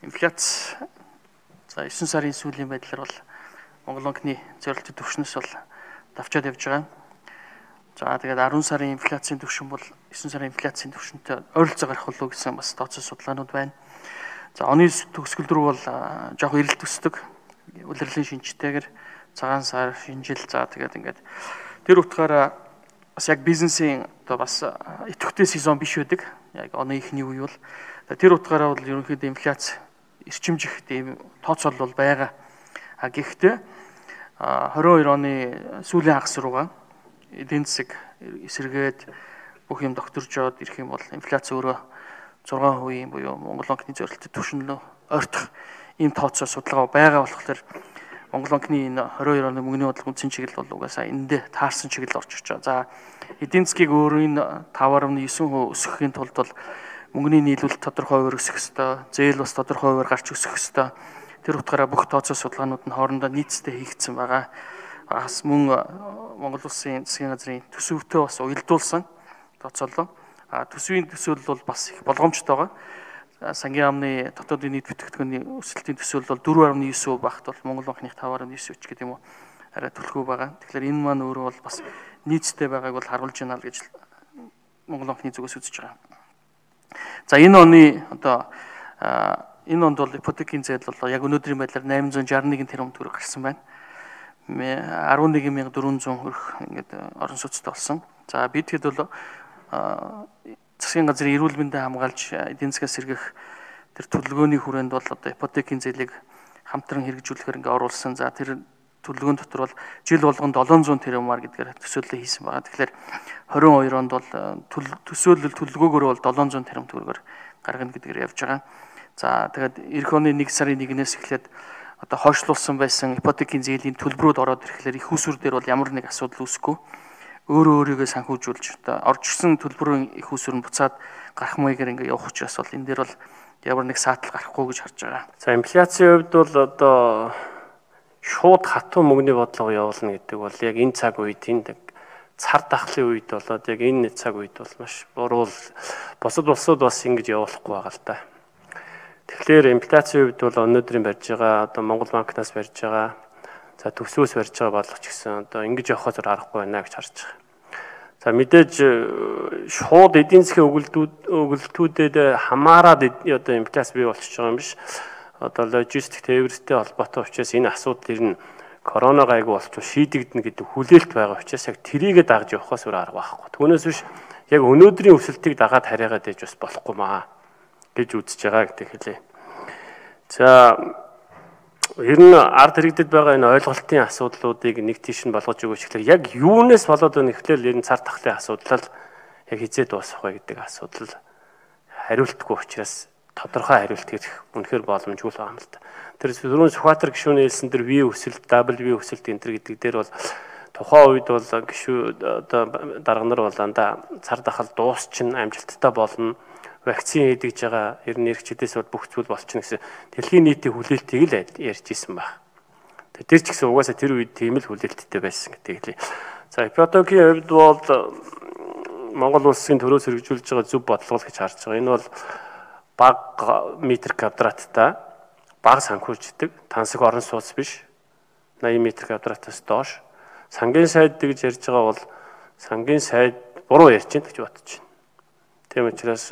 Инфляц за 9 сарын сүүлийн байдлаар бол Монгол банкны зорилттой түвшнээс бол давчаад явж байгаа. За тэгээд 10 сарын инфляцийн түвшин бол 9 сарын инфляцийн түвшинтэй ойролцоо гарах болов гэсэн бас тооцоо судалгаанууд байна. За оны төгсгөл рүү бол жоох эрэлт өсдөг. Улирлын шинжтэйгээр цагаан сар, шинжил за тэгээд ингээд тэр утгаараа бас яг бизнесийн одоо бас идэвхтэй сезон биш байдаг. Яг оны ихний үе бол тэр утгаараа бол ерөнхийдөө инфляц эрчимжих тийм тооцоол бол байгаа. Гэхдээ 22 оны сүүлийн хагас руугаа эдийн засаг эсэргээд бүх юм докторжоод ирэх юм бол инфляц өөрөө 6% буюу Монгол банкны зорилттой түвшинлөө ойртох ийм тооцоо судалгаа байгаа болохоор Монгол банкны энэ 22 оны мөнгөний бодлого үнцийн чиглэл бол угаасаа эндээ таарсан чиглэл орж ирж байгаа. За эдийн засгийг өөрийн 5.9% өсгөхийн тулд бол мөнгөний нийлүүлэлт тодорхой хувиар өсөх ёстой, зээл бас тодорхой хувиар гарч өсөх ёстой. Тэр утгаараа бүх тооцоо судалгаанууд нь хоорондоо нийцтэй хийгдсэн байгаа. Бас мөн Монгол Улсын засгийн газрын төсөвтөө бас уялдуулсан тооцоолоо. Төсвийн төсөөлөл бол бас их болгоомжтой байгаа. Сангийн амны дотоодын нийт бүтээгдэхүүний өсөлтийн төсөөлөл бол 4.9% багт бол Монгол банкных 5.9% ч гэдэг юм уу арай төлхөө байгаа. Тэгэхээр энэ маань өөрөө бол бас нийцтэй байгааг бол харуулж байна л гэж Монгол банкны зүгээс үзэж байгаа. За энэ оны одоо энэ онд бол ипотекийн зээл бол яг өнөөдрийн байдлаар 861 тэрбум төгрөг гарсан байна. 11400 хүрэх ингээд орон сууцтай болсон. За бид хэд бол засгийн газрын эрүүл мэндийг хамгаалж эдийн засгаас сэргэх тэр төлөвлөгөөний хүрээнд бол одоо ипотекийн зээлийг хамтран хэрэгжүүлэхээр ингээд оруулсан. За тэр төлөвлөгөөн дотор бол жил болгонд 700 тэрбумаар гэдгээр төсөөлөл хийсэн байгаа. Тэгэхээр 22 онд бол төсөөлөл төлөвлөгөөгөөр бол 700 тэрбум төгрөгөөр гаргана гэдгээр явж байгаа. За тэгээд эх оны 1 сарын 1-ээс эхлээд одоо хойшлуулсан байсан ипотекийн зээлийн төлбөрүүд ороод ирэхлээр их усүр дээр бол ямар нэг асуудал үүсэхгүй өөрөө өөрийгөө санхүүжүүлж одоо орж ирсэн төлбөрийн их усүр нь буцаад гарах маягаар ингээ явах учраас бол энэ дээр бол ямар нэг саатал гарахгүй гэж харж байгаа. За инфляцийн хувьд бол одоо шууд хатуу мөнгөний бодлого явуулна гэдэг бол яг энэ цаг үед энэ цар тахлын үед болоод яг энэ цаг үед бол маш буруу бусад улсууд бас ингэж явуулахгүй байгаа л та. Тэгэхээр инфляцийн хувьд бол өнөөдрийн барьж байгаа одоо Монгол банкнаас барьж байгаа за төсвөөс барьж байгаа бодлого ч гэсэн одоо ингэж явахаар зур аргагүй байна гэж харж байгаа. За мэдээж шууд эдийн засгийн өгүүлбэрүүдэд хамаарад одоо инфляц бий болчихж байгаа юм биш. Одоо логистик тээвэртэй холбоотой учраас энэ асуудал ер нь корона гайгүй болчихвол шийдэгдэнэ гэдэг хүлээлт байгаа учраас яг тэрийгэ дагж явахаас өөр арга байхгүй. Түүнээс биш яг өнөөдрийн өсөлтийг дагаад харьяагаад ээж бас болохгүй маа гэж үзэж байгаа гэдэг хэлээ. За ер нь ард иргэдэд байгаа энэ ойлголтын асуудлуудыг нэг тийш нь болгож өгөөч гэхээр яг юунаас болоод байна гэхлээр ер нь цар тахлын асуудал яг хизээ дуусах вэ гэдэг асуудал хариултгүй учраас тодорхой хариулт хийх үнэхээр боломжгүй л байгаа юм л да. Тэр түрүүн Сүхбаатар гишүүний хэлсэн тэр V өсөлт, W өсөлт энэ төр гэдэг дээр бол тухайн үед бол гишүү одоо дарга нар бол дандаа цар тахал дуусчин амжилттай болно. Вакцин хийдэж байгаа ер нь эрхчдээс бол бүх зүйл болчихно гэсэн дэлхийн нийтийн хүлээлтийг л ярьж исэн баг. Тэр ч гэсэн угаасаа тэр үед тийм л хүлээлттэй байсан гэдэг лээ. За ипотекийн хувьд бол Монгол улсын төрөөс хэрэгжүүлж байгаа зөв бодлого гэж харж байгаа. Энэ бол бага метр квадраттай бага санхүүждэг тансаг орон сууц биш 80 м квадратаас доош сангийн сайд гэж ярьж байгаа бол сангийн сайд буруу ярьж байна гэж бодож байна. Тийм учраас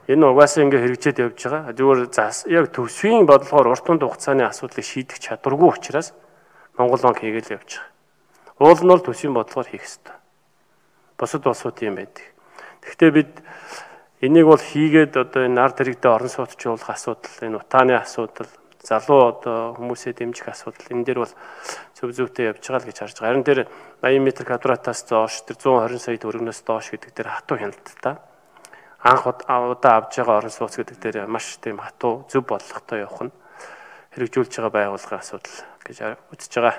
энэ угаасаа ингээ хэрэгжээд явж байгаа. Зүгээр яг төсвийн бодлогоор урт хугацааны асуудлыг шийдэх чадваргүй учраас Монгол банк хийгээл явж байгаа. Уул нь бол төсвийн бодлогоор хийх ёстой. Бусад улсууд юм байдаг. Гэхдээ бид энийг бол хийгээд одоо энэ ард иргэдэд орон сууцчлуулах асуудал, энэ утааны асуудал, залуу одоо хүмүүсээ дэмжих асуудал энэ дээр бол зөв зөвтэй явж байгаа л гэж харж байгаа. Харин тэр 80 м квадратаас доош тэр 120 сая төгрөгнөөс доош гэдэг тэр хатуу хяналттай. Анх удаа авж байгаа орон сууц гэдэг дээр маш тийм хатуу зөв бодлоготой явах нь хэрэгжүүлж байгаа байгууллагын асуудал гэж үзэж байгаа.